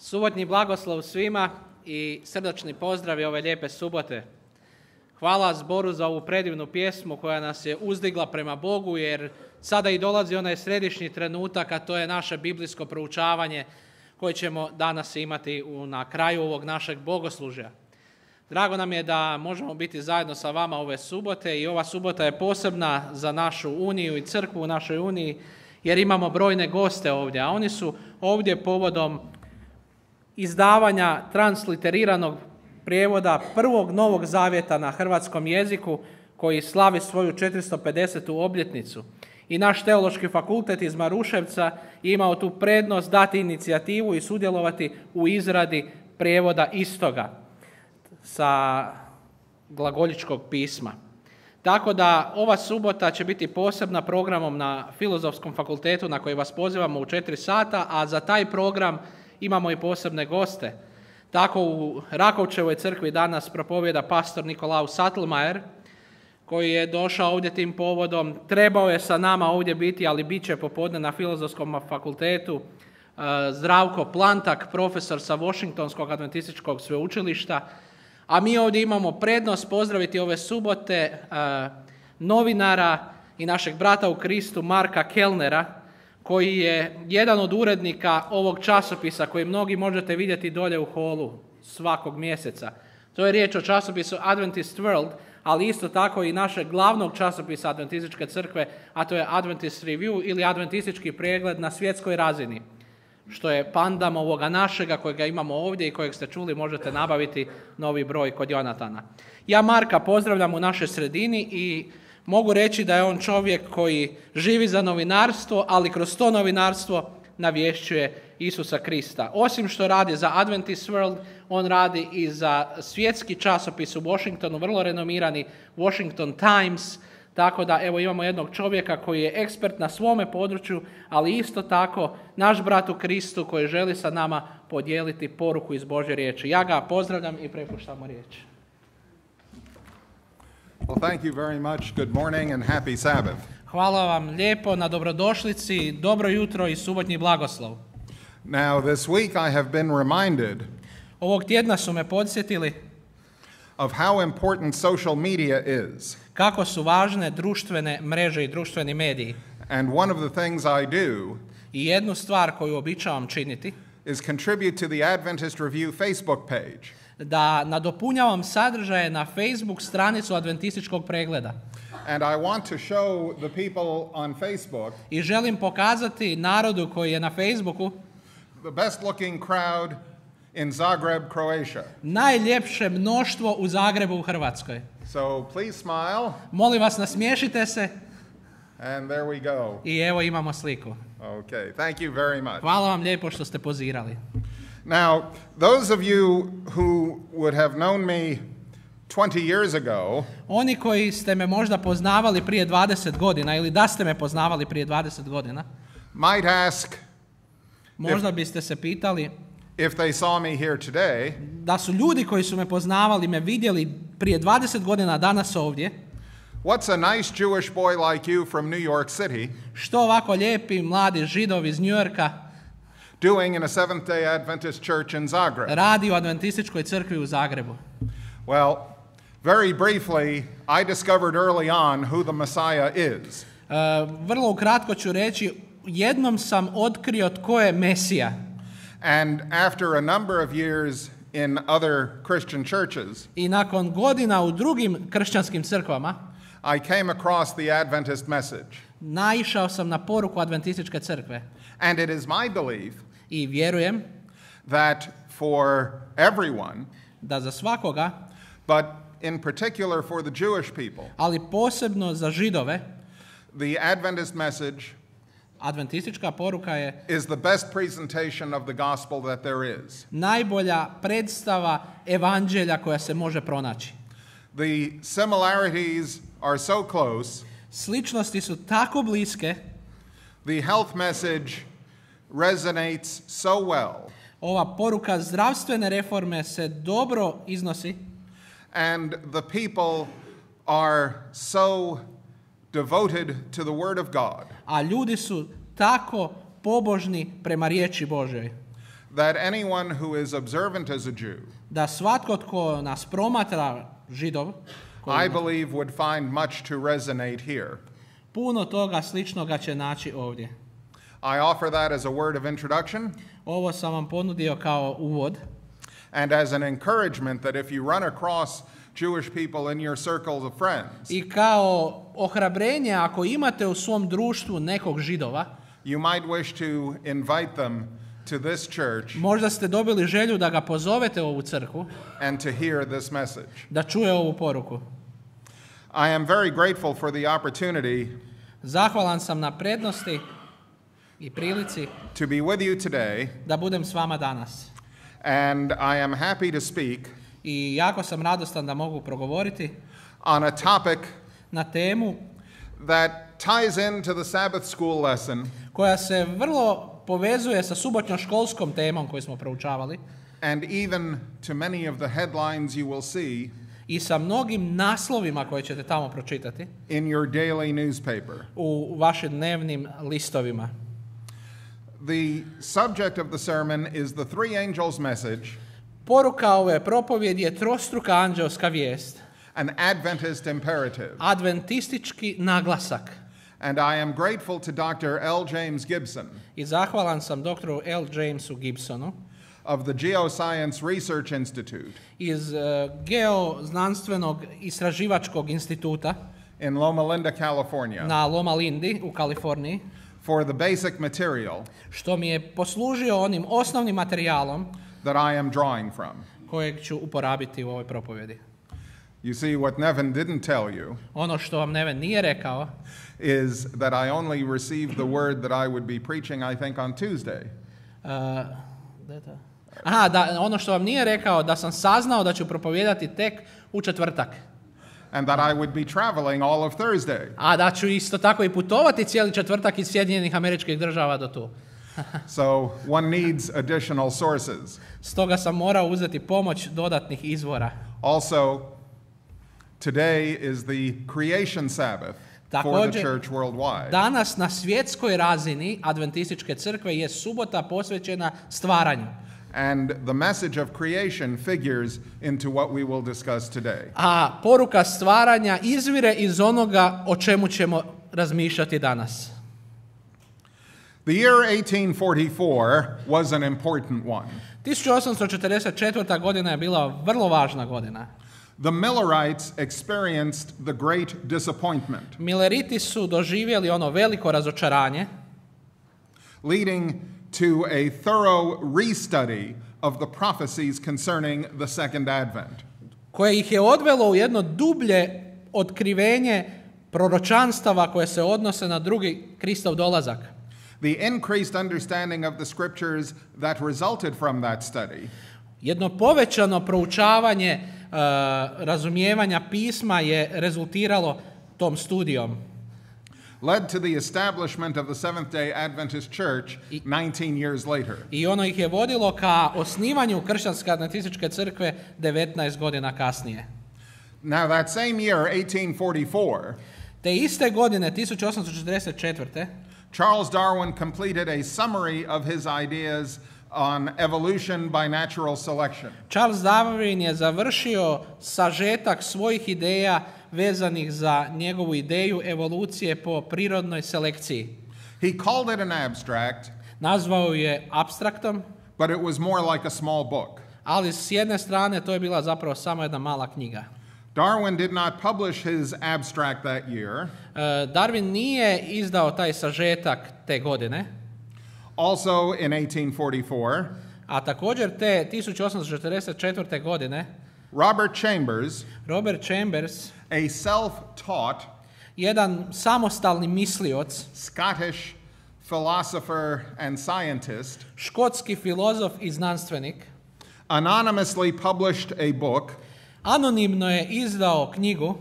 Subotnji blagoslov svima i srdačni pozdravi ove lijepe subote. Hvala zboru za ovu predivnu pjesmu koja nas je uzdigla prema Bogu, jer sada i dolazi onaj središnji trenutak, a to je naše biblijsko proučavanje koje ćemo danas imati na kraju ovog našeg bogoslužja. Drago nam je da možemo biti zajedno sa vama ove subote i ova subota je posebna za našu uniju i crkvu u našoj uniji, jer imamo brojne goste ovdje, a oni su ovdje povodom izdavanja transliteriranog prijevoda prvog Novog Zavjeta na hrvatskom jeziku koji slavi svoju 450. obljetnicu. I naš teološki fakultet iz Maruševca imao tu prednost dati inicijativu i sudjelovati u izradi prijevoda istoga sa glagoljičkog pisma. Tako da ova subota će biti posebna programom na Filozofskom fakultetu na koji vas pozivamo u 4 sata, a za taj program imamo i posebne goste. Tako u Rakovčevoj crkvi danas propovjeda pastor Nikolaus Sattelmajer, koji je došao ovdje tim povodom. Trebao je sa nama ovdje biti, ali bit će popodne na Filozofskom fakultetu Zdravko Plantak, profesor sa Washingtonskog adventističkog sveučilišta. A mi ovdje imamo prednost pozdraviti ove subote novinara i našeg brata u Kristu Marka Kellnera, koji je jedan od urednika ovog časopisa koji mnogi možete vidjeti dolje u holu svakog mjeseca. To je riječ o časopisu Adventist World, ali isto tako i našeg glavnog časopisa Adventističke crkve, a to je Adventist Review ili Adventistički pregled na svjetskoj razini, što je pandam ovoga našega kojega imamo ovdje i kojeg ste čuli, možete nabaviti novi broj kod Jonatana. Ja Marka pozdravljam u našoj sredini i mogu reći da je on čovjek koji živi za novinarstvo, ali kroz to novinarstvo navješćuje Isusa Krista. Osim što radi za Adventist World, on radi i za svjetski časopis u Washingtonu, vrlo renomirani Washington Times, tako da evo imamo jednog čovjeka koji je ekspert na svome području, ali isto tako naš brat u Kristu koji želi sa nama podijeliti poruku iz Božje riječi. Ja ga pozdravljam i prepuštamo riječ. Well, thank you very much. Good morning and happy Sabbath. Hvala vam lijepo na dobrodošlici, dobro jutro i subotnji blagoslov. Now, this week I have been reminded Ovog tjedna su me podsjetili of how important social media is. kako su važne društvene mreže i društveni mediji. And one of the things I do I jednu stvar koju običavam činiti, is contribute to the Adventist Review Facebook page. da nadopunjavam sadržaje na Facebook stranicu Adventističkog pregleda. And I want to show the people on Facebook I želim pokazati narodu koji je na Facebooku the best looking crowd in Zagreb, Croatia. najljepše mnoštvo u Zagrebu u Hrvatskoj. So please smile. Molim vas, nasmiješite se And there we go. i evo imamo sliku. Okay, thank you very much. Hvala vam lijepo što ste pozirali. Now, those of you who would have known me 20 years ago Oni koji ste me možda poznavali prije 20 godina ili da ste me poznavali prije 20 godina, might ask možda biste se pitali if they saw me here today, da su ljudi koji su me poznavali me vidjeli prije 20 godina danas ovdje, what's a nice Jewish boy like you from New York City što ovako lijepi mladi Židov iz New Yorka doing in a Seventh-day Adventist church in Zagreb? radi u Adventističkoj crkvi u Zagrebu. Well, very briefly, I discovered early on who the Messiah is. Vrlo ukratko ću reći, jednom sam otkrio tko je Mesija. And after a number of years in other Christian churches, I nakon godina u drugim kršćanskim crkvama, I came across the Adventist message. naišao sam na poruku Adventističke crkve. And it is my belief I vjerujem that for everyone, da za svakoga, but in particular for the Jewish people, ali posebno za Židove, the Adventist message adventistička poruka je is the best presentation of the gospel that there is. najbolja predstava evanđelja koja se može pronaći. The similarities are so close. Sličnosti su tako bliske, The health message resonates so well. ova poruka zdravstvene reforme se dobro iznosi, And the people are so devoted to the Word of God a ljudi su tako pobožni prema riječi Božoj. that anyone who is observant as a Jew, da svatko tko nas promatra, Židov, I believe would find much to resonate here. puno toga sličnoga će naći ovdje. I offer that as a word of introduction Ovo sam vam ponudio kao uvod and as an encouragement that if you run across Jewish people in your circles of friends, i kao ohrabrenje ako imate u svom društvu nekog Židova, you might wish to invite them to this church možda ste dobili želju da ga pozovete u ovu crkvu, and to hear this message. da čuje ovu poruku. I am very grateful for the opportunity Zahvalan sam na prednosti i prilici to be with you today, da budem s vama danas. and I am happy to speak I jako sam radostan da mogu progovoriti on a topic na temu that ties into the Sabbath school lesson koja se vrlo povezuje sa subotnjoškolskom temom koju smo proučavali and even to many of the headlines you will see i sa mnogim naslovima koje ćete tamo pročitati in your daily newspaper. u vašim dnevnim listovima. The subject of the sermon is the three angels' message, Poruka ove propovjedi je trostruka anđelska vijest, an Adventist imperative. adventistički naglasak. And I am grateful to Dr. L. James Gibson I zahvalan sam doktoru L. Jamesu Gibsonu of the Geoscience Research Institute iz Geoznanstvenog istraživačkog instituta in Loma Linda, California, na Loma Lindi u Kaliforniji, for the basic material što mi je poslužio onim osnovnim materijalom that I am drawing from. kojeg ću uporabiti u ovoj propovjedi. You see, what Nevin didn't tell you Ono što vam Neven nije rekao is that I only received the word that I would be preaching, I think, on Tuesday. Ono što vam nije rekao da sam saznao da ću propovijedati tek u četvrtak. And that I would be traveling all of Thursday. A da ću isto tako i putovati cijeli četvrtak iz Sjedinjenih Američkih Država do tu. So one needs additional sources. Stoga sam morao uzeti pomoć dodatnih izvora. Also, today is the creation Sabbath for the church worldwide. Danas na svjetskoj razini adventističke crkve je subota posvećena stvaranju. And the message of creation figures into what we will discuss today. A poruka stvaranja izvire iz onoga o čemu ćemo razmišljati danas. The year 1844 was an important one. 1844. godina je bila vrlo važna godina. The Millerites experienced the great disappointment, Milleriti su doživjeli ono veliko razočaranje, leading to a thorough restudy of the prophecies concerning the second advent. koje ih je odvelo u jedno dublje otkrivenje proročanstava koje se odnose na drugi Kristov dolazak. The increased understanding of the scriptures that resulted from that study Jedno povećano proučavanje razumijevanja pisma je rezultiralo tom studijom. led to the establishment of the Seventh-day Adventist Church 19 years later. I ono ih je vodilo ka osnivanju kršćanske adventističke crkve 19 godina kasnije. Now that same year, 1844, Te iste godine, 1844. Charles Darwin completed a summary of his ideas on evolution by natural selection. Charles Darwin je završio sažetak svojih ideja vezanih za njegovu ideju evolucije po prirodnoj selekciji. He called it an abstract, Nazvao je apstraktom, but it was more like a small book. ali s jedne strane to je bila zapravo samo jedna mala knjiga. Darwin did not publish his abstract that year. Darwin nije izdao taj sažetak te godine, Also in 1844, a također te 1844. godine Robert Chambers, a self-taught jedan samostalni mislioc, Scottish philosopher and scientist, škotski filozof i znanstvenik, anonymously published a book, anonimno je izdao knjigu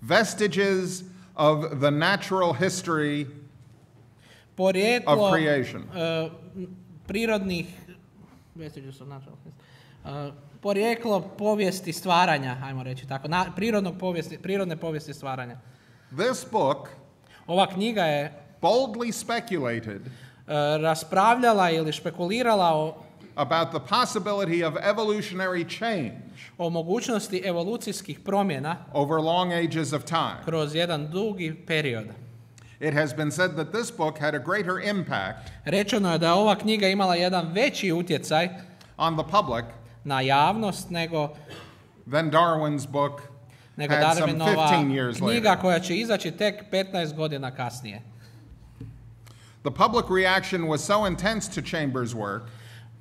Vestiges of the Natural History Porijeklo of Creation. Prirodnih porijeklo povijesti stvaranja, ajmo reći tako, prirodne povijesti stvaranja. This book Ova knjiga je boldly speculated raspravljala ili špekulirala o about the possibility of evolutionary change o mogućnosti evolucijskih promjena over long ages of time. kroz jedan dugi period. It has been said that this book had a greater impact Rečeno je da je ova knjiga imala jedan veći utjecaj on the public na javnost nego than Darwin's book had some 15 Darwinova years knjiga later. koja će izaći tek 15 godina kasnije. The public reaction was so intense to Chambers' work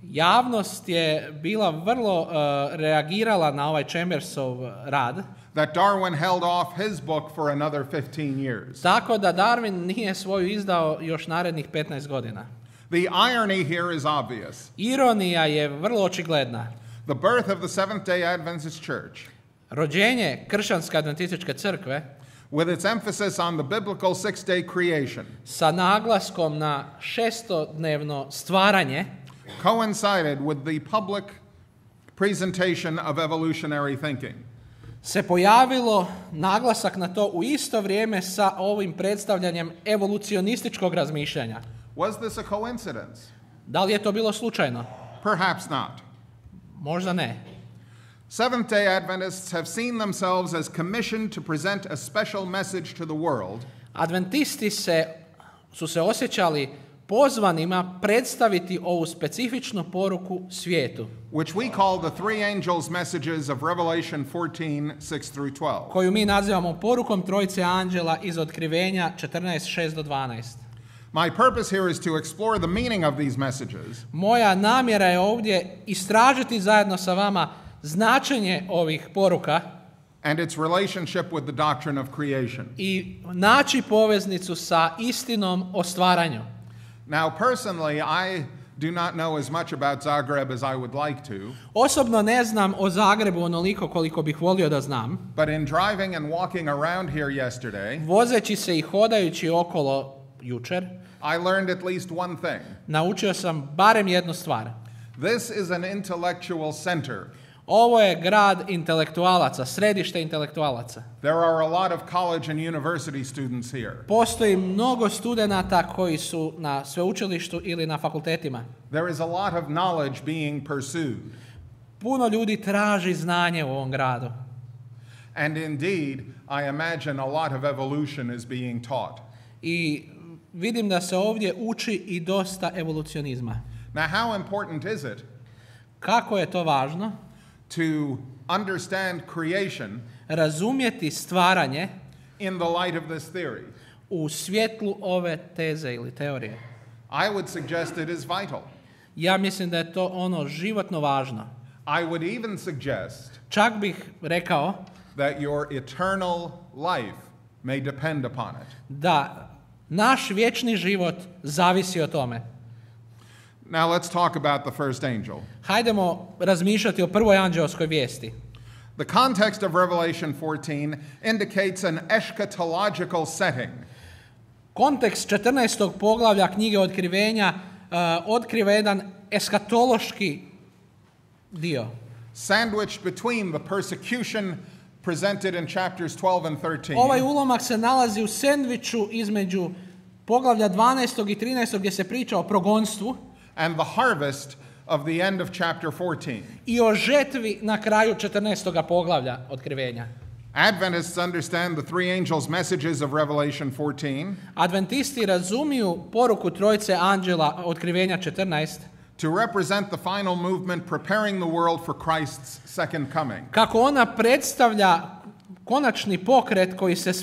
Javnost je bila vrlo reagirala na ovaj Chambersov rad, that Darwin held off his book for another 15 years. tako da Darwin nije svoju izdao još narednih 15 godina. The irony here is obvious. Ironija je vrlo očigledna. The birth of the Seventh-day Adventist Church, Rođenje kršćanske adventističke crkve with its emphasis on the biblical six-day creation, sa naglaskom na šestodnevno stvaranje coincided with the public presentation of evolutionary thinking. se pojavilo naglasak na to u isto vrijeme sa ovim predstavljanjem evolucionističkog razmišljanja. Was this a coincidence? Da li je to bilo slučajno? Perhaps not. Možda ne. Seventh-day Adventists have seen themselves as commissioned to present a special message to the world, Adventisti su se osjećali pozvanima predstaviti ovu specifičnu poruku svijetu, which we call the three angels' messages of Revelation 14, 6 through 12. koju mi nazivamo porukom trojice anđela iz Otkrivenja 14:6-12. My purpose here is to explore the meaning of these messages Moja namjera je ovdje istražiti zajedno sa vama značenje ovih poruka and its relationship with the doctrine of creation. i naći poveznicu sa istinom o stvaranju. Now, personally, I do not know as much about Zagreb as I would like to, Osobno ne znam o Zagrebu onoliko koliko bih volio da znam. but in driving and walking around here yesterday, Vozeći se i hodajući okolo jučer, I learned at least one thing. naučio sam barem jednu stvar. This is an intellectual center. Ovo je grad intelektualaca, središte intelektualaca. There are a lot of college and university students here. Postoji mnogo studenata koji su na sveučilištu ili na fakultetima. There is a lot of knowledge being pursued. Puno ljudi traži znanje u ovom gradu. And indeed, I imagine a lot of evolution is being taught. I vidim da se ovdje uči i dosta evolucionizma. Now, how important is it Kako je to važno? to understand creation Razumjeti stvaranje in the light of this theory? u svjetlu ove teze ili teorije. I would suggest it is vital. Ja mislim da je to ono životno važno. I would even suggest Čak bih rekao that your eternal life may depend upon it. da naš vječni život zavisi o tome. Now, let's talk about the first angel. Hajdemo razmišljati o prvoj anđeoskoj vijesti. The context of Revelation 14 indicates an eschatological setting. Kontekst 14. poglavlja knjige Otkrivenja otkriva jedan eskatološki dio. Sandwiched between the persecution presented in chapters 12 and 13 Ovaj ulomak se nalazi u sendviču između poglavlja 12. i 13. gdje se priča o progonstvu and the harvest of the end of chapter 14. i o žetvi na kraju 14. poglavlja Otkrivenja. Adventists understand the three angels' messages of Revelation 14 Adventisti razumiju poruku trojice anđela Otkrivenja 14 to represent the final movement preparing the world for Christ's second coming. kako ona predstavlja konačni pokret koji se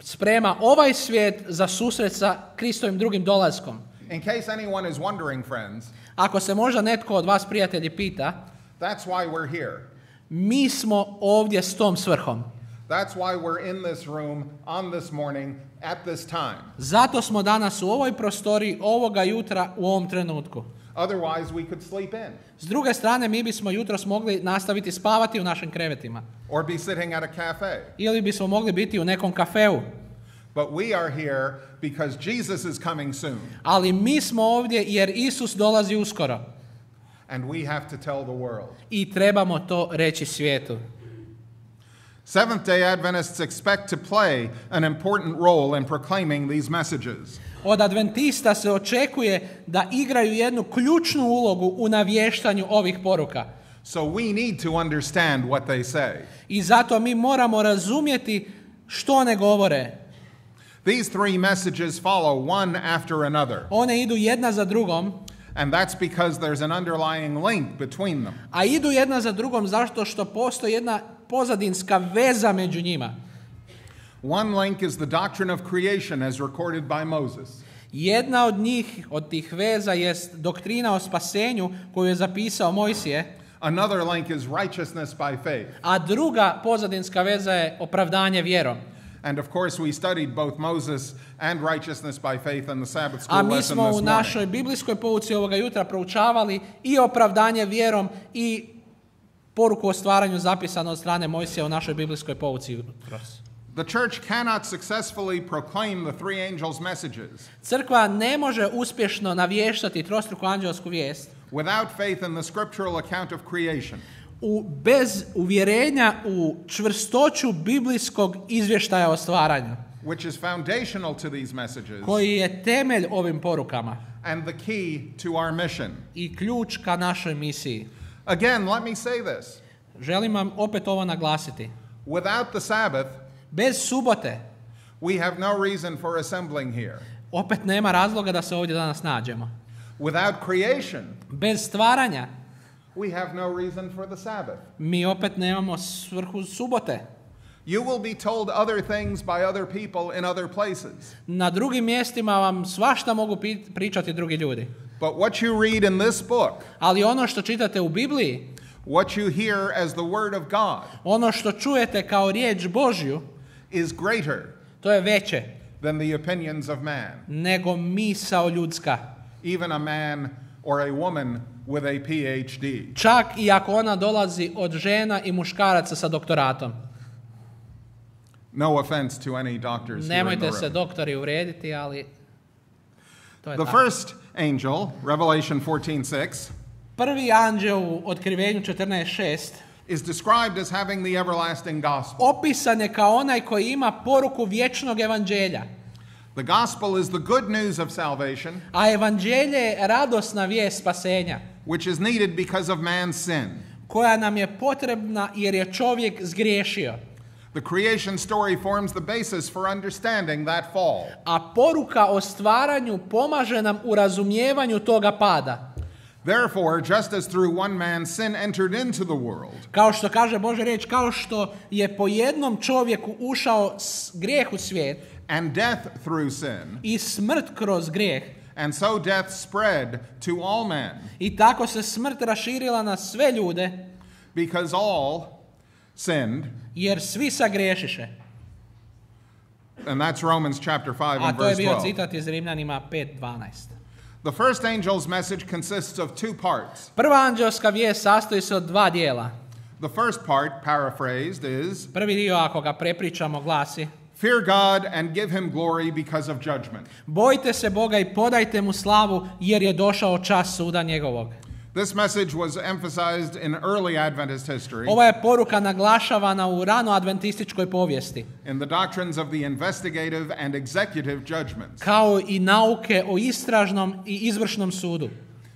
sprema ovaj svijet za susret sa Kristovim drugim dolaskom. In case anyone is wondering, friends, Ako se možda netko od vas prijatelji pita, that's why we're here. mi smo ovdje s tom svrhom. That's why we're in this room on this morning at this time. Zato smo danas u ovoj prostoriji ovoga jutra u ovom trenutku. Otherwise, we could sleep in S druge strane, mi bismo jutros mogli nastaviti spavati u našim krevetima. or be sitting at a cafe. Ili bismo mogli biti u nekom kafeu. But we are here because Jesus is coming soon, Ali mi smo ovdje jer Isus dolazi uskoro. and we have to tell the world. I trebamo to reći svijetu. Seventh-day Adventists expect to play an important role in proclaiming these messages. Od adventista se očekuje da igraju jednu ključnu ulogu u navještanju ovih poruka. So we need to understand what they say. I zato mi moramo razumjeti što one govore. These three messages follow one after another, One idu jedna za drugom, and that's because there's an underlying link between them. a idu jedna za drugom zato što postoji jedna pozadinska veza među njima. One link is the doctrine of creation as recorded by Moses. Jedna od njih, od tih veza, jest doktrina o spasenju koju je zapisao Mojsije, Another link is righteousness by faith. a druga pozadinska veza je opravdanje vjerom. And of course we studied both Moses and righteousness by faith in the Sabbath A school mi lesson smo this u morning. našoj biblijskoj pouci ovoga jutra proučavali i opravdanje vjerom i poruku o stvaranju zapisano od strane Mojsija u našoj biblijskoj pouci jutros. The church cannot successfully proclaim the three angels' messages Crkva ne može uspješno navještati trostruku anđelsku vijest without faith in the scriptural account of creation. bez uvjerenja u čvrstoću biblijskog izvještaja o stvaranju, Which is foundational to these messages koji je temelj ovim porukama and the key to our mission. i ključ ka našoj misiji. Again, let me say this. Želim vam opet ovo naglasiti. Without the Sabbath, Bez subote we have no reason for assembling here. opet nema razloga da se ovdje danas nađemo. Without creation, Bez stvaranja we have no reason for the Sabbath. mi opet nemamo svrhu subote. You will be told other things by other people in other places. Na drugim mjestima vam svašta mogu pričati drugi ljudi. But what you read in this book, Ali ono što čitate u Bibliji, what you hear as the word of God, ono što čujete kao riječ Božju, is greater to je veće than the opinions of man, nego misao ljudska. even a man or a woman with a PhD. Čak i ako ona dolazi od žena i muškaraca sa doktoratom. No offense to any doctors here in the Nemojte se room. doktori uvrijediti, ali to je The tako. first angel, Revelation 14:6, Prvi anđeo u Otkrivenju 14:6 is described as having the everlasting gospel. opisan je kao onaj koji ima poruku vječnog evanđelja. The gospel is the good news of salvation, A evanđelje je radosna vijest spasenja, which is needed because of man's sin. koja nam je potrebna jer je čovjek zgriješio. The creation story forms the basis for understanding that fall. A poruka o stvaranju pomaže nam u razumijevanju toga pada. Therefore, just as through one man sin entered into the world, Kao što kaže Božja riječ, kao što je po jednom čovjeku ušao grijeh u svijet and death through sin, i smrt kroz grijeh, and so death spread to all men, i tako se smrt raširila na sve ljude, because all sinned, jer svi sagriješiše. and that's Romans chapter 5 A and to je verse bio 12. citat iz Rimljanima 5:12. The first angel's message consists of two parts. Prva anđelska vijest sastoji se od dva dijela. The first part, paraphrased, is Prvi dio, ako ga prepričamo, glasi: fear God and give him glory because of judgment. Bojte se Boga i podajte mu slavu jer je došao čas suda njegovog. This message was emphasized in early Adventist history Ova je poruka naglašavana u rano adventističkoj povijesti, in the doctrines of the investigative and executive judgments. kao i nauke o istražnom i izvršnom sudu.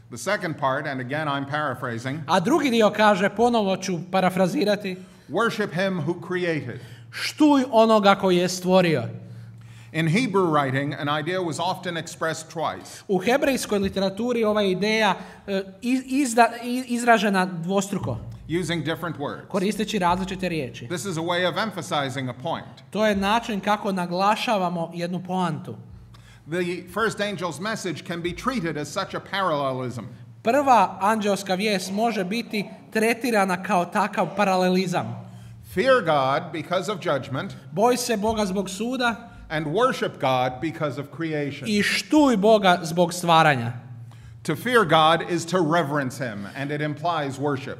The second part, and again I'm paraphrasing, A drugi dio kaže, ponovo ću parafrazirati: worship him who created. štuj onoga koji je stvorio. In Hebrew writing, an idea was often expressed twice. U hebrejskoj literaturi ova ideja izražena dvostruko, Using different words. koristeći različite riječi. This is a way of emphasizing a point. To je način kako naglašavamo jednu poantu. The first angel's message can be treated as such a parallelism. Prva anđelska vijest može biti tretirana kao takav paralelizam. Fear God because of judgment, Boj se Boga zbog suda and worship God because of creation. i štuj Boga zbog stvaranja. To fear God is to reverence him, and it implies worship.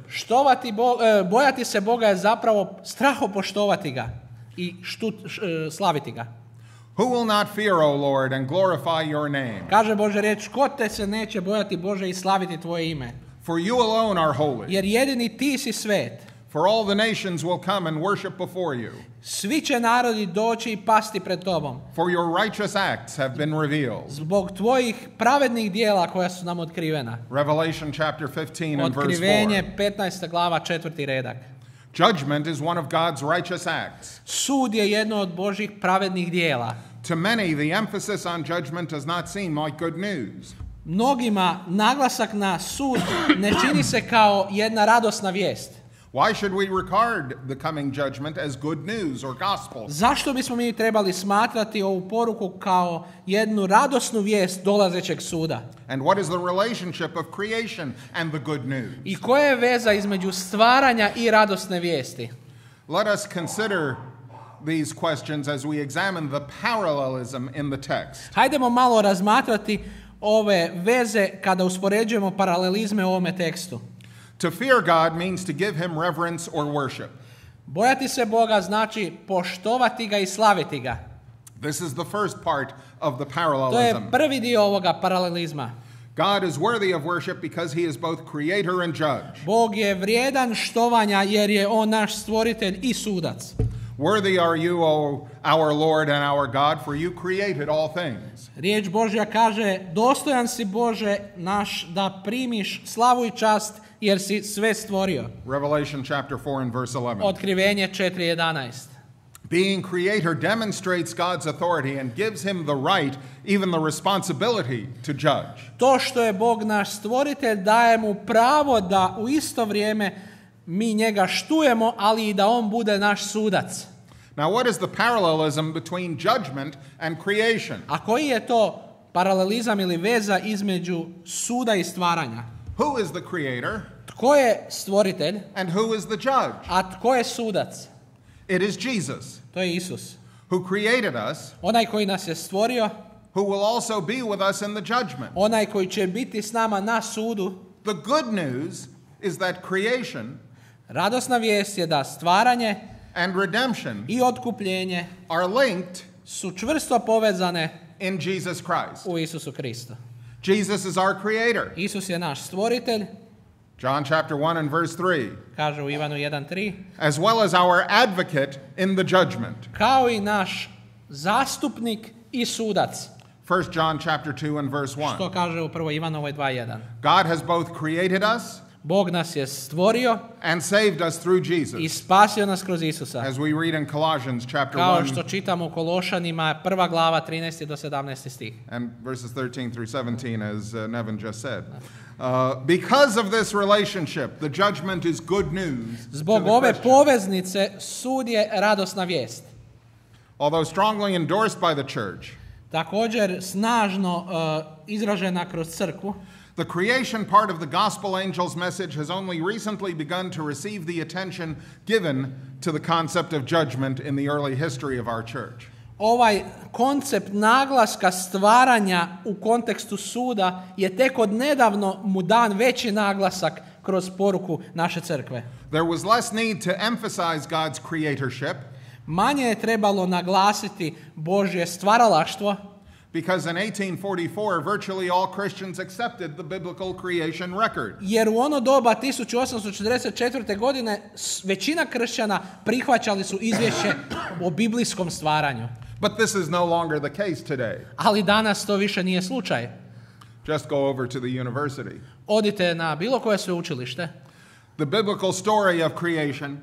Bojati se Boga je zapravo strahopoštovati ga i slaviti ga. Who will not fear, O Lord, and glorify your name? Kaže Božja riječ: ko te se neće bojati Bože i slaviti tvoje ime? For you alone are holy. Jer jedini ti si svet. For all the nations will come and worship before you. Svi će narodi doći i pasti pred tobom. For your righteous acts have been revealed. Zbog tvojih pravednih dijela koja su nam otkrivena. Revelation chapter 15 and verse 4. Otkrivenje 15. glava 4. redak. Judgment is one of God's righteous acts. Sud je jedno od Božjih pravednih dijela. To many, the emphasis on judgment does not seem like good news. Mnogima naglasak na sud ne čini se kao jedna radosna vijest. Why should we regard the coming judgment as good news or gospel? Zašto bismo mi trebali smatrati ovu poruku kao jednu radosnu vijest dolazećeg suda? And what is the relationship of creation and the good news? I koja je veza između stvaranja i radosne vijesti? Let us consider these questions as we examine the parallelism in the text. Hajdemo malo razmatrati ove veze kada uspoređujemo paralelizme u ovome tekstu. To fear God means to give him reverence or worship. Bojati se Boga znači poštovati ga i slaviti ga. This is the first part of the To je parallelism. prvi dio ovoga paralelizma. God is worthy of worship because he is both creator and judge. Bog je vrijedan štovanja jer je on naš stvoritelj i sudac. Worthy are you, O our Lord and our God, for you created all things. Riječ Božja kaže, dostojan si Bože naš da primiš slavu i čast jer si sve stvorio. Revelation chapter 4 and verse 11. Otkrivenje 4:11. Being creator demonstrates God's authority and gives him the right, even the responsibility to judge. To što je Bog naš stvoritelj daje mu pravo da u isto vrijeme mi njega štujemo, ali i da on bude naš sudac. Now, what is the parallelism between judgment and creation? A koji je to paralelizam ili veza između suda i stvaranja? Who is the creator Tko je stvoritelj, and who is the judge? a tko je sudac? It is Jesus, To je Isus. who created us, Onaj koji nas je stvorio, who will also be with us in the judgment. onaj koji će biti s nama na sudu. The good news is that creation Radosna vijest je da stvaranje and redemption i otkupljenje are linked su čvrsto povezane in Jesus Christ. u Isusu Kristu. Jesus is our creator. Isus je naš stvoritelj, John chapter 1 and verse 3. kaže u Ivanu 1:3, As well as our advocate in the judgment. kao i naš zastupnik i sudac. 1 John chapter 2 and verse 1. Što kaže u 1. Ivanovoj 2:1. God has both created us Bog nas je stvorio and saved us through Jesus. i spasio nas kroz Isusa. As we read in Colossians chapter Kao 1 što čitamo u Kološanima 1. glava 13. do 17. stih. and verses 13 through 17, as Nevin just said. Because of this relationship, the judgment is good news. to Zbog the ove Christian. poveznice sud je radosna vijest. Although strongly endorsed by the church, Također snažno izražena kroz crkvu, the creation part of the gospel angel's message has only recently begun to receive the attention given to the concept of judgment in the early history of our church. ovaj koncept naglaska stvaranja u kontekstu suda je tek od nedavno mu dan veći naglasak kroz poruku naše crkve. There was less need to emphasize God's creatorship Manje je trebalo naglasiti Božje stvaralaštvo, because in 1844 virtually all Christians accepted the biblical creation record. jer u ono doba 1844. godine većina kršćana prihvaćali su izvješće o biblijskom stvaranju. But this is no longer the case today. Ali danas to više nije slučaj. Just go over to the university. Odite na bilo koje sveučilište. The biblical story of creation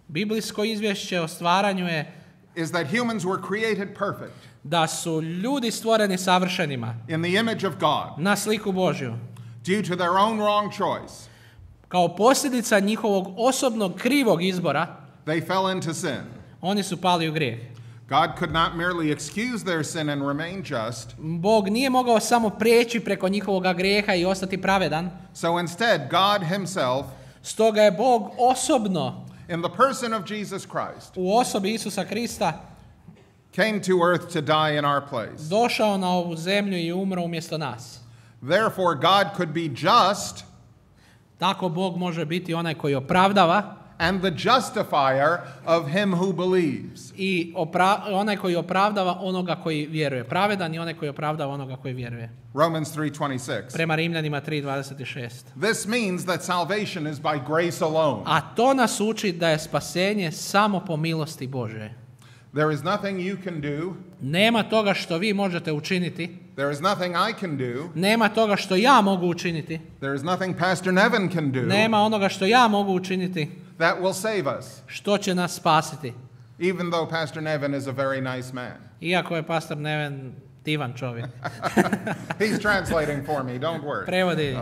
Biblijsko izvješće o stvaranju je is that humans were created perfect da su ljudi stvoreni savršenima in the image of God na sliku Božju. due to their own wrong choice. Kao posljedica njihovog osobnog krivog izbora, They fell into sin. oni su pali u grijeh. God could not merely excuse their sin and remain just. Bog nije mogao samo prijeći preko njihovoga grijeha i ostati pravedan. So instead, God himself, Stoga je Bog osobno in the person of Jesus Christ, u osobi Isusa Krista came to earth to die in our place. došao na ovu zemlju i umro umjesto nas. Therefore, God could be just Tako Bog može biti onaj koji opravdava and the justifier of him who believes. I onaj koji opravdava onoga koji vjeruje. Pravedan i onaj koji opravdava onoga koji vjeruje. Romans 3:26. Prema Rimljanima 3:26. This means that salvation is by grace alone. A to nas uči da je spasenje samo po milosti Božje. There is nothing you can do. Nema toga što vi možete učiniti. There is nothing I can do. Nema toga što ja mogu učiniti. There is nothing Pastor Nevin can do. Nema onoga što ja mogu učiniti. That will save us. Što će nas spasiti. Even though Pastor Nevin is a very nice man. Iako je pastor Neven divan čovjek. He's translating for me, don't worry. Prevodi.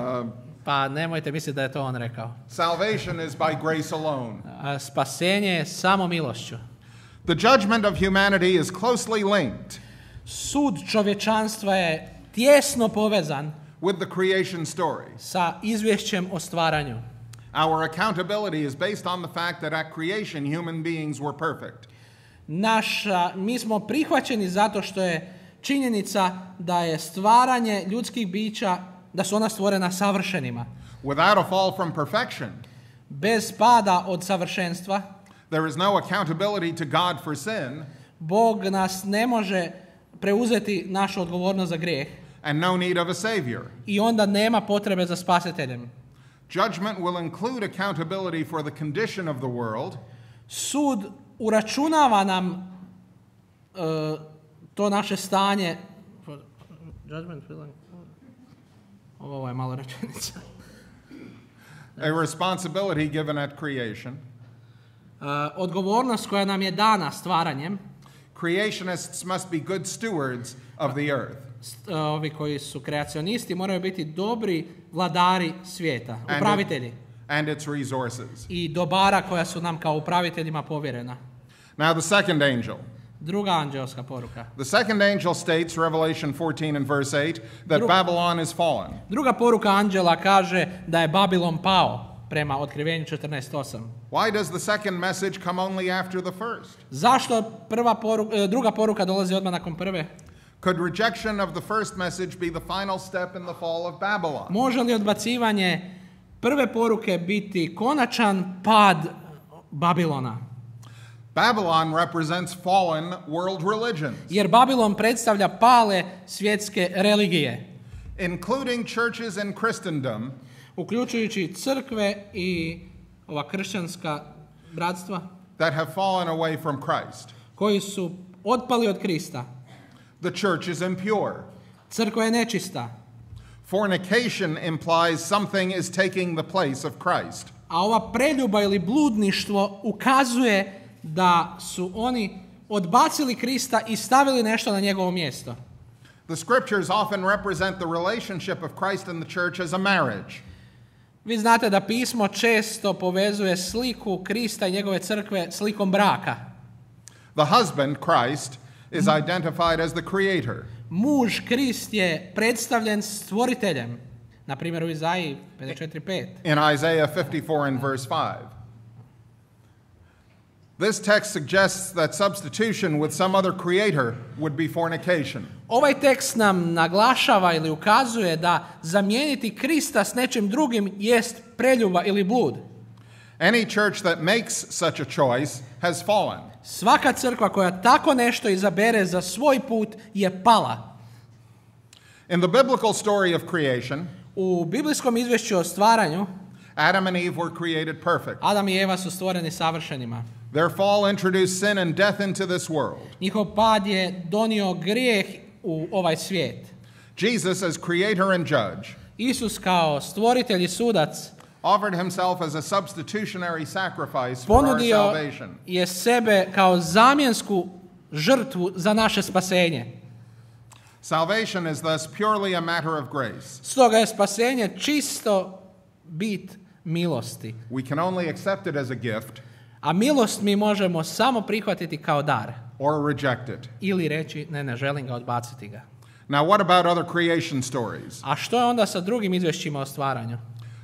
Pa nemojte misliti da je to on rekao. Salvation is by grace alone. Spasenje je samo milošću. The judgment of humanity is closely linked. Sud čovječanstva je tjesno povezan with the creation story. Sa izvješćem o stvaranju. Our accountability is based on the fact that at creation human beings were perfect. Mi smo prihvaćeni zato što je činjenica da je stvaranje ljudskih bića, da su ona stvorena savršenima. Without a fall from perfection, bez pada od savršenstva, there is no accountability to God for sin. Bog nas ne može preuzeti našu odgovornost za grijeh. And no need of a savior. I onda nema potrebe za spasiteljem. Judgment will include accountability for the condition of the world. Sud uračunava nam to naše stanje. Judgment will include. Ovo je malo rečenica. A responsibility given at creation. Odgovornost koja nam je dana stvaranjem. Creationists must be good stewards of the earth. Ovi koji su kreacionisti moraju biti dobri vladari svijeta, upravitelji. And its resources. I dobara koja su nam kao upraviteljima povjerena. Now the second angel. Druga anđelska poruka. The second angel states, Revelation 14 and verse 8, that Babylon is fallen. Druga poruka anđela kaže da je Babilon pao, prema Otkrivenju 14:8. Why does the second message come only after the first? Zašto druga poruka dolazi odmah nakon prve? Could rejection of the first message be the final step in the fall of Babylon? Može li odbacivanje prve poruke biti konačan pad Babilona? Babylon represents fallen world religions. Jer Babilon predstavlja pale svjetske religije. Including churches in Christendom. Uključujući crkve i ova kršćanska bratstva. That have fallen away from Christ. Koji su otpali od Krista. The church is impure. Crkva je nečista. Fornication implies something is taking the place of Christ. A ova preljuba ili bludništvo ukazuje da su oni odbacili Krista i stavili nešto na njegovo mjesto. The scriptures often represent the relationship of Christ and the church as a marriage. Vi znate da pismo često povezuje sliku Krista i njegove crkve slikom braka. The husband, Christ, is identified as the creator. Muž Krist je predstavljen stvoriteljem. Na primjer u Izaiji 54:5. In Isaiah 54 and verse 5. This text suggests that substitution with some other creator would be fornication. Ovaj tekst nam naglašava ili ukazuje da zamijeniti Krista s nečim drugim jest preljuba ili blud. Any church that makes such a choice has fallen. Svaka crkva koja tako nešto izabere za svoj put je pala. In the biblical story of creation, u biblijskom izvješću o stvaranju, Adam and Eve were created perfect. Adam i Eva su stvoreni savršenima. Their fall introduced sin and death into this world. Njihov pad je donio grijeh u ovaj svijet. Jesus as creator and judge, Isus kao stvoritelj i sudac, offered himself as a substitutionary sacrifice for our ponudio salvation. je sebe kao zamjensku žrtvu za naše spasenje. Salvation is thus purely a matter of grace. Stoga je spasenje čisto bit milosti. We can only accept it as a gift, A milost mi možemo samo prihvatiti kao dar. or reject it. Ili reći, ne želim ga, odbaciti ga. Now, what about other creation stories? A što je onda sa drugim izvješćima o stvaranju?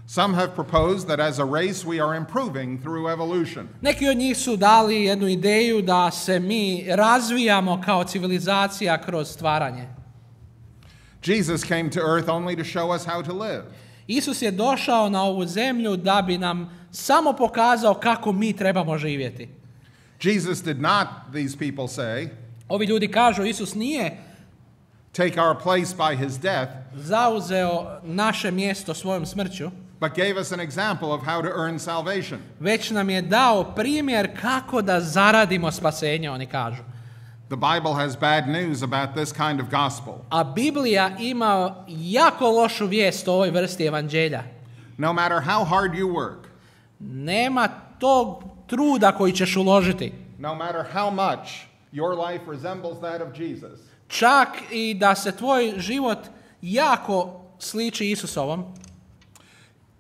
Some have proposed that as a race we are improving through evolution. Neki od njih su dali jednu ideju da se mi razvijamo kao civilizacija kroz stvaranje. Jesus came to earth only to show us how to live. Isus je došao na ovu zemlju da bi nam samo pokazao kako mi trebamo živjeti. Jesus did not, these people say, Ovi ljudi kažu, Isus nije take our place by his death, zauzeo naše mjesto svojom smrću, but gave us an example of how to earn salvation. već nam je dao primjer kako da zaradimo spasenje, oni kažu. The Bible has bad news about this kind of gospel. A Biblija ima jako lošu vijest o ovoj vrsti evanđelja. No matter how hard you work, Nema tog truda koji ćeš uložiti. no matter how much your life resembles that of Jesus, Čak i da se tvoj život jako sliči Isusovom,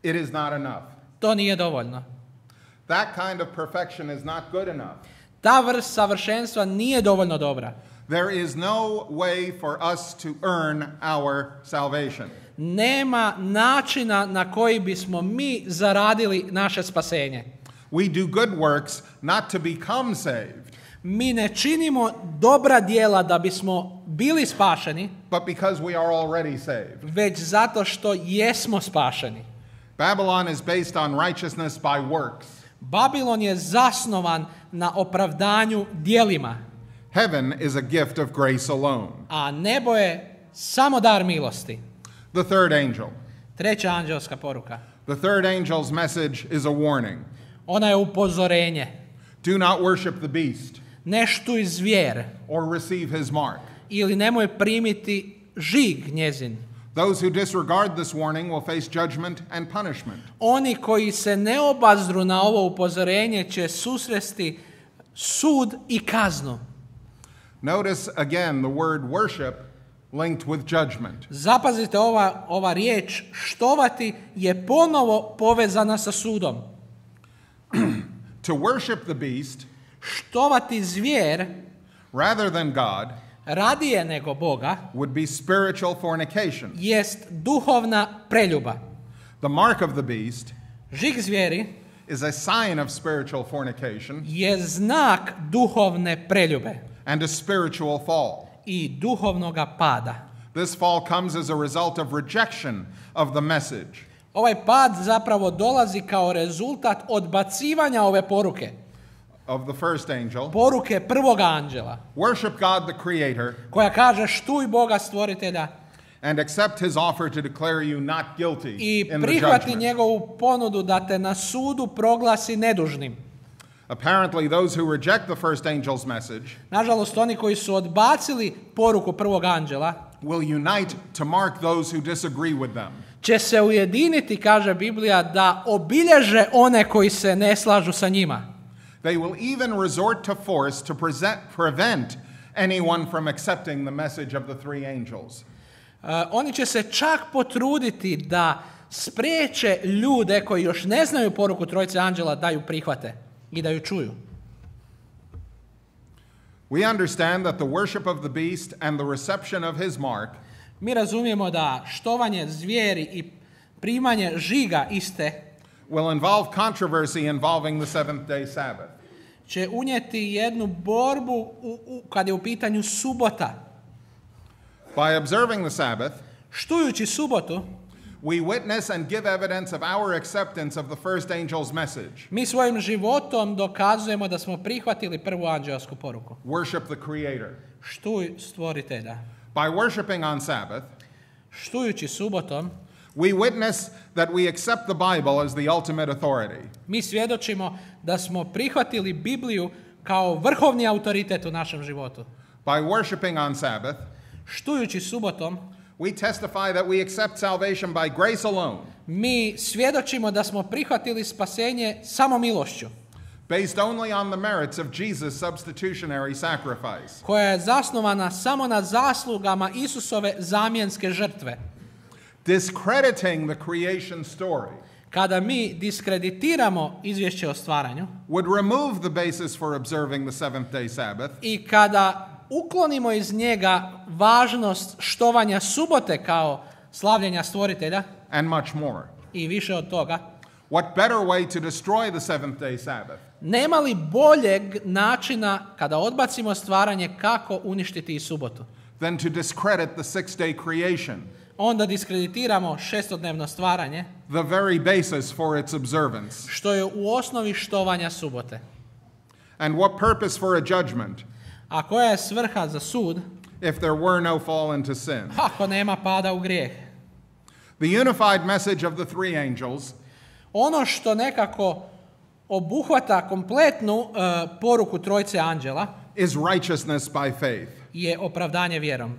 it is not enough. to nije dovoljno. That kind of perfection is not good enough. Ta vrst savršenstva nije dovoljno dobra. There is no way for us to earn our salvation. Nema načina na koji bismo mi zaradili naše spasenje. We do good works not to become saved, Mi ne činimo dobra djela da bismo bili spašeni, but because we are already saved. već zato što jesmo spašeni. Babylon is based on righteousness by works. Babilon je zasnovan na opravdanju djelima, Heaven is a gift of grace alone. a nebo je samo dar milosti. The third angel. Treća anđelska poruka. The third angel's message is a warning. Ona je upozorenje. Do not worship the beast Ne štuj zvijer or receive his mark. ili nemoj primiti žig njezin. Those who disregard this warning will face judgment and punishment. Oni koji se ne obazru na ovo upozorenje će susresti sud i kaznu. Notice again the word worship linked with judgment. Zapazite, ova riječ štovati je ponovo povezana sa sudom. To worship the beast Štovati zvijer rather than God radije nego Boga would be spiritual fornication. jest duhovna preljuba. The mark of the beast Žig zvijeri is a sign of spiritual fornication je znak duhovne preljube and a spiritual fall. i duhovnoga pada. This fall comes as a result of rejection of the message. Ovaj pad zapravo dolazi kao rezultat odbacivanja ove poruke. Of the first angel. Poruke prvoga anđela, Worship God the Creator koja kaže štuj Boga stvoritelja and accept his offer to declare you not guilty i in the prihvati judgment. njegovu ponudu da te na sudu proglasi nedužnim. Apparently, those who reject the first angel's message Nažalost, oni koji su odbacili poruku prvog anđela will unite to mark those who disagree with them. će se ujediniti, kaže Biblija, da obilježe one koji se ne slažu sa njima. They will even resort to force to prevent anyone from accepting the message of the three angels. Oni će se čak potruditi da spriječe ljude koji još ne znaju poruku trojice anđela da ju prihvate i da ju čuju. We understand that the worship of the beast and the reception of his mark Mi razumijemo da štovanje zvijeri i primanje žiga iste will involve controversy involving the seventh day Sabbath. će unijeti jednu borbu kad je u pitanju subota. By observing the Sabbath, Štujući subotu, we witness and give evidence of our acceptance of the first angel's message. mi svojim životom dokazujemo da smo prihvatili prvu anđelsku poruku. Worship the Creator. Štuj stvoritelja. By worshiping on Sabbath, Štujući subotom, we witness that we accept the Bible as the ultimate authority. mi svjedočimo da smo prihvatili Bibliju kao vrhovni autoritet u našem životu. By worshiping on Sabbath, Štujući subotom, we testify that we accept salvation by grace alone, mi svjedočimo da smo prihvatili spasenje samo milošću, based only on the merits of Jesus' substitutionary sacrifice. koja je zasnovana samo na zaslugama Isusove zamjenske žrtve. Discrediting the creation story Kada mi diskreditiramo izvješće o stvaranju would remove the basis for observing the seventh day Sabbath i kada uklonimo iz njega važnost štovanja subote kao slavljenja stvoritelja and much more. i više od toga, What better way to destroy the seventh day Sabbath nema li boljeg načina kada odbacimo stvaranje kako uništiti i subotu? than to discredit the sixth day creation? onda diskreditiramo šestodnevno stvaranje, the very basis for its observance. što je u osnovi štovanja subote. And what purpose for a judgment A koja je svrha za sud if there were no fall into sin? ako nema pada u grijeh? The unified message of the three angels Ono što nekako obuhvata kompletnu poruku trojice anđela is righteousness by faith. je opravdanje vjerom.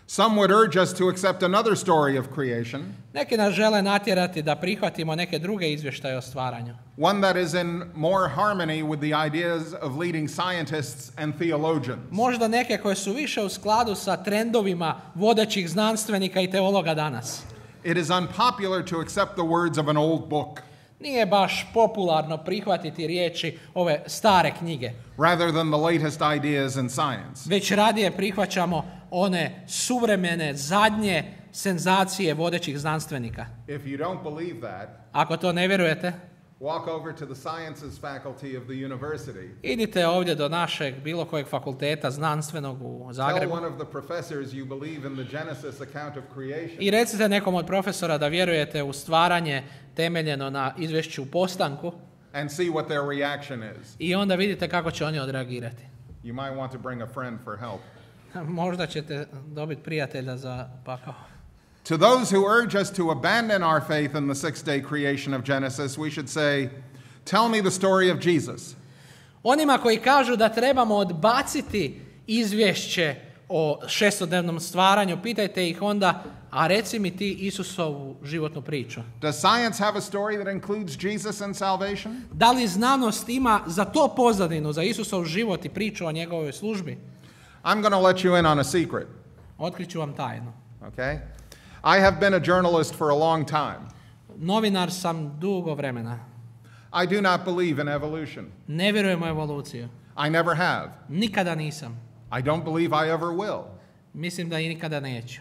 Some would urge us to accept another story of creation, Neki nas žele natjerati da prihvatimo neke druge izvještaje o stvaranju. one that is in more harmony with the ideas of leading scientists and theologians. Možda neke koje su više u skladu sa trendovima vodećih znanstvenika i teologa danas. It is unpopular to accept the words of an old book Nije baš popularno prihvatiti riječi ove stare knjige. rather than the latest ideas in science. Već radije prihvaćamo one suvremene, zadnje senzacije vodećih znanstvenika. If you don't believe that, Ako to ne vjerujete, walk over to the sciences faculty of the university. idite ovdje do našeg bilo kojeg fakulteta znanstvenog u Tell Zagrebu one of the professors you believe in the Genesis account of creation. i recite nekom od profesora da vjerujete u stvaranje temeljeno na izvješću postanku And see what their reaction is. i onda vidite kako će oni odreagirati. You might want to bring a friend for help. Možda ćete dobiti prijatelja za pakao. To those who urge us to abandon our faith in the six-day creation of Genesis, we should say, tell me the story of Jesus. Onima koji kažu da trebamo odbaciti izvješće o šestodnevnom stvaranju, pitajte ih onda, a reci mi ti Isusovu životnu priču. Does science have a story that includes Jesus and salvation? Da li znanost ima za to pozadinu, za Isusov život i priču o njegovoj službi? I'm going to let you in on a secret, Otkriću vam tajnu. okay? I have been a journalist for a long time. Novinar sam dugo vremena. I do not believe in evolution. Ne vjerujem u evoluciju. I never have. Nikada nisam. I don't believe I ever will. Mislim da i nikada neću.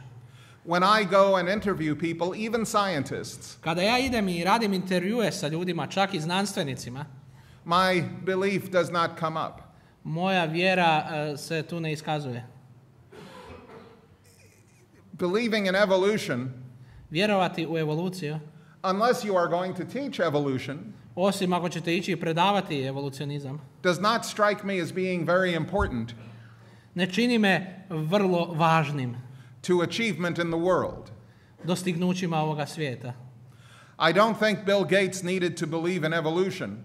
When I go and interview people, even scientists, Kada ja idem i radim intervjue sa ljudima, čak i znanstvenicima, my belief does not come up. moja vjera se tu ne iskazuje. Believing in evolution, Vjerovati u evoluciju, unless you are going to teach evolution, osim ako ćete ići i predavati evolucionizam, does not strike me as being very important ne čini me vrlo važnim to achievement in the world. dostignućima ovoga svijeta. I don't think Bill Gates needed to believe in evolution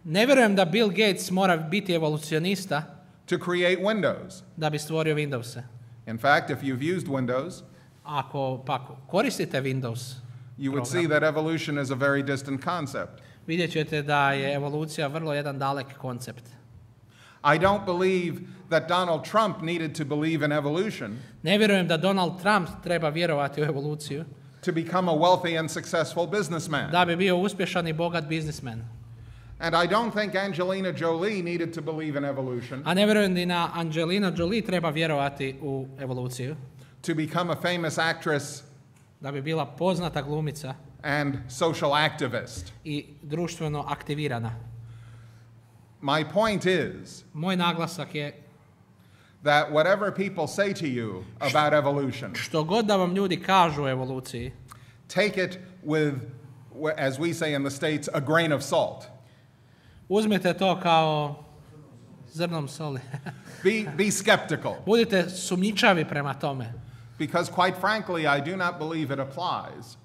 Ne vjerujem da Bill Gates mora biti evolucionista to create Windows. da bi stvorio Windowse. In fact, if you've used Windows, Ako pak koristite Windows, you would program, see that evolution is a very distant concept. vidjet ćete da je evolucija vrlo jedan dalek koncept. I don't believe that Donald Trump needed to believe in evolution Ne vjerujem da Donald Trump treba vjerovati u evoluciju to become a wealthy and successful businessman. da bi bio uspješan i bogat biznismen. And I don't think Angelina Jolie needed to believe in evolution A ne vjerujem da na Angelina Jolie treba vjerovati u evoluciju to become a famous actress da bi bila poznata glumica and social activist. i društveno aktivirana. My point is Moj naglasak je that whatever people say to you about evolution, što god da vam ljudi kažu o evoluciji, take it with, as we say in the States, a grain of salt. uzmite to kao zrnom soli. Be skeptical, Budite sumnjičavi prema tome. because quite frankly, I do not believe it applies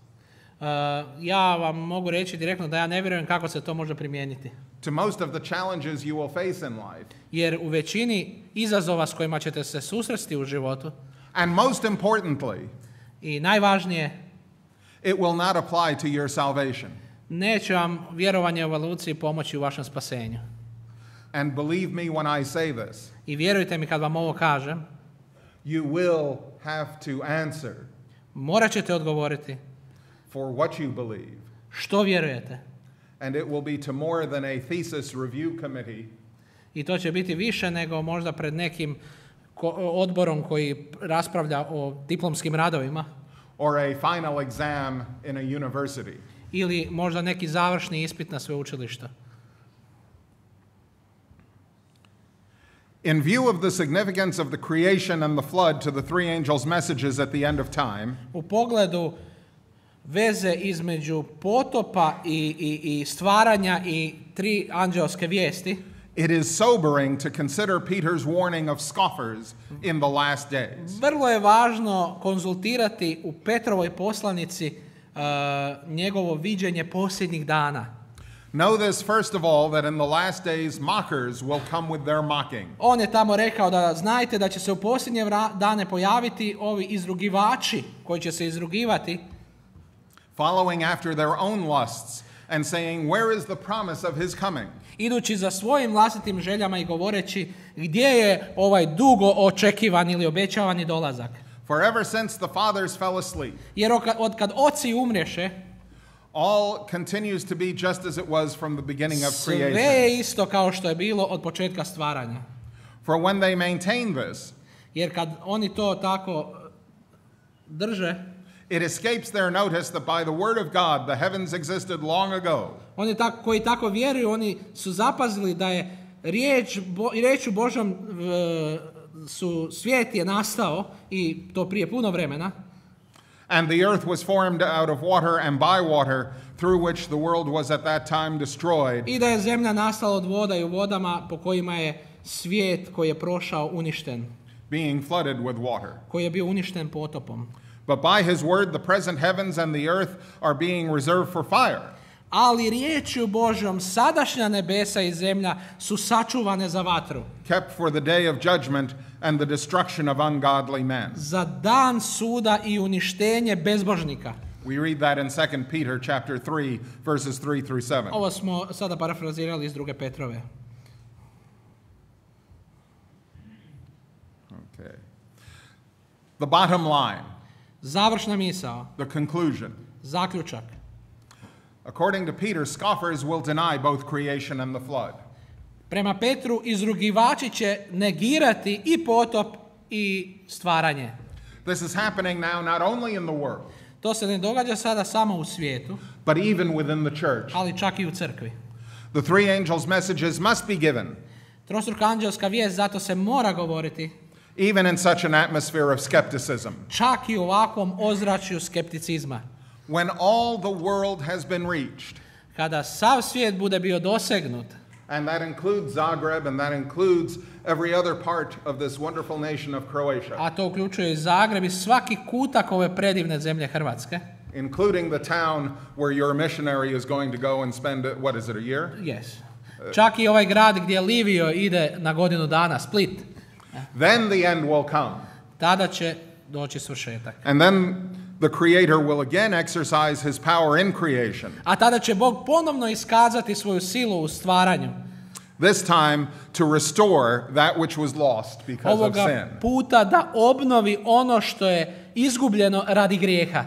Ja vam mogu reći direktno da ja ne vjerujem kako se to može primijeniti. to most of the challenges you will face in life. Jer u većini izazova s kojima ćete se susresti u životu, And most importantly, i najvažnije, it will not apply to your salvation. neće vam vjerovanje u evoluciji pomoći u vašem spasenju. And believe me when I say this, I vjerujte mi kad vam ovo kažem, you will have to answer morat ćete odgovoriti for what you believe. što vjerujete. And it will be to more than a thesis review committee I to će biti više nego možda pred nekim odborom koji raspravlja o diplomskim radovima or a final exam in a university. ili možda neki završni ispit na sveučilištu. In view of the significance of the creation and the flood to the three angels' messages at the end of time, U pogledu veze između potopa i stvaranja i tri anđelske vijesti, it is sobering to consider Peter's warning of scoffers in the last days. vrlo je važno konzultirati u Petrovoj poslanici njegovo viđenje posljednjih dana. Know this, first of all, that in the last days mockers will come with their mocking. On je tamo rekao da znajte da će se u posljednje dane pojaviti ovi izrugivači koji će se izrugivati, Following after their own lusts and saying, where is the promise of his coming? idući za svojim vlastitim željama i govoreći gdje je ovaj dugo očekivani ili obećavani dolazak. For ever since the fathers fell asleep, Jer od kad oci umrješe, all continues to be just as it was from the beginning of sve creation. je isto kao što je bilo od početka stvaranja. For when they maintain this, Jer kad oni to tako drže, it escapes their notice that by the word of God the heavens existed long ago, oni koji tako vjeruju, oni su zapazili da je riječu Božom svijet je nastao i to prije puno vremena. and the earth was formed out of water and by water, through which the world was at that time destroyed. I da je zemlja nastala od voda i u vodama po kojima je svijet koji je prošao uništen, Being flooded with water. koji je bio uništen potopom. But by his word the present heavens and the earth are being reserved for fire, Ali riječju Božjom sadašnja nebesa i zemlja su sačuvane za vatru, kept for the day of judgment and the destruction of ungodly men. za dan suda i uništenje bezbožnika. We read that in 2 Peter chapter 3 verses 3 through 7. Ovo smo sada parafrazirali iz 2. Petrove. Okay. The bottom line, Završna misao, the conclusion. zaključak. According to Peter, scoffers will deny both creation and the flood. Prema Petru, izrugivači će negirati i potop i stvaranje. This is happening now not only in the world, To se ne događa sada samo u svijetu, but even within the church. ali čak i u crkvi. The three angels' messages must be given, Trostruka anđelska vijest zato se mora govoriti, even in such an atmosphere of skepticism. čak i u ovakvom ozračju skepticizma. When all the world has been reached, Kada sav svijet bude bio dosegnut, and that includes Zagreb, and that includes every other part of this wonderful nation of Croatia, a to uključuje i Zagreb i svaki kutak ove predivne zemlje Hrvatske, including the town where your missionary is going to go and spend, what is it, a year? yes. Čak i ovaj grad gdje Livio ide na godinu dana, Split, Then the end will come. tada će doći svršetak. And then the Creator will again exercise his power in creation, A tada će Bog ponovno iskazati svoju silu u stvaranju. this time to restore that which was lost because of Ovoga sin. puta da obnovi ono što je izgubljeno radi grijeha.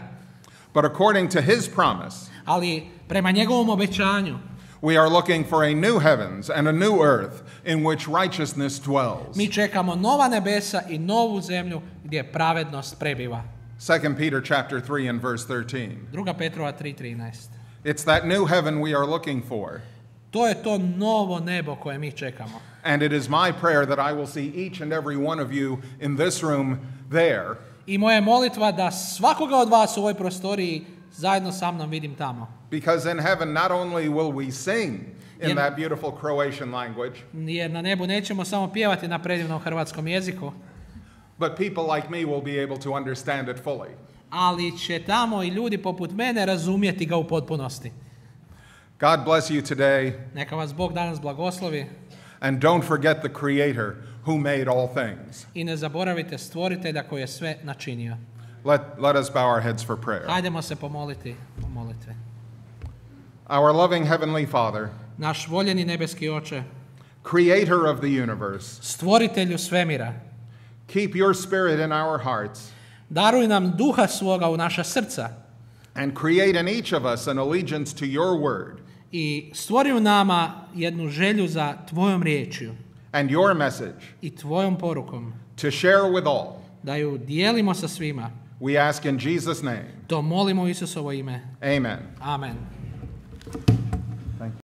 But according to his promise, Ali prema njegovom obećanju we are looking for a new heavens and a new earth in which righteousness dwells. mi čekamo nova nebesa i novu zemlju gdje pravednost prebiva. 2 Peter chapter 3 and verse 13. 2. Petrova 3:13. It's that new heaven we are looking for. To je to novo nebo koje mi čekamo. And it is my prayer that I will see each and every one of you in this room there, I moja je molitva da svakoga od vas u ovoj prostoriji zajedno sa mnom vidim tamo. because in heaven not only will we sing in Jer- that beautiful Croatian language, Jer na nebu nećemo samo pjevati na predivnom hrvatskom jeziku, but people like me will be able to understand it fully. ali će tamo i ljudi poput mene razumjeti ga u potpunosti. God bless you today, Neka vas Bog danas blagoslovi and don't forget the Creator who made all things. i ne zaboravite stvoritelja koji je sve načinio. Let us bow our heads for prayer. Hajdemo se pomoliti u molitvi. Our loving Heavenly Father, Naš voljeni nebeski Oče, Creator of the universe, stvoritelju svemira, keep your Spirit in our hearts daruj nam duha svoga u naša srca and create in each of us an allegiance to your word i stvori u nama jednu želju za tvojom riječju and your message i tvojom porukom, to share with all. da ju dijelimo sa svima. We ask in Jesus' name. To molimo u Isusovo ime. Amen. Amen.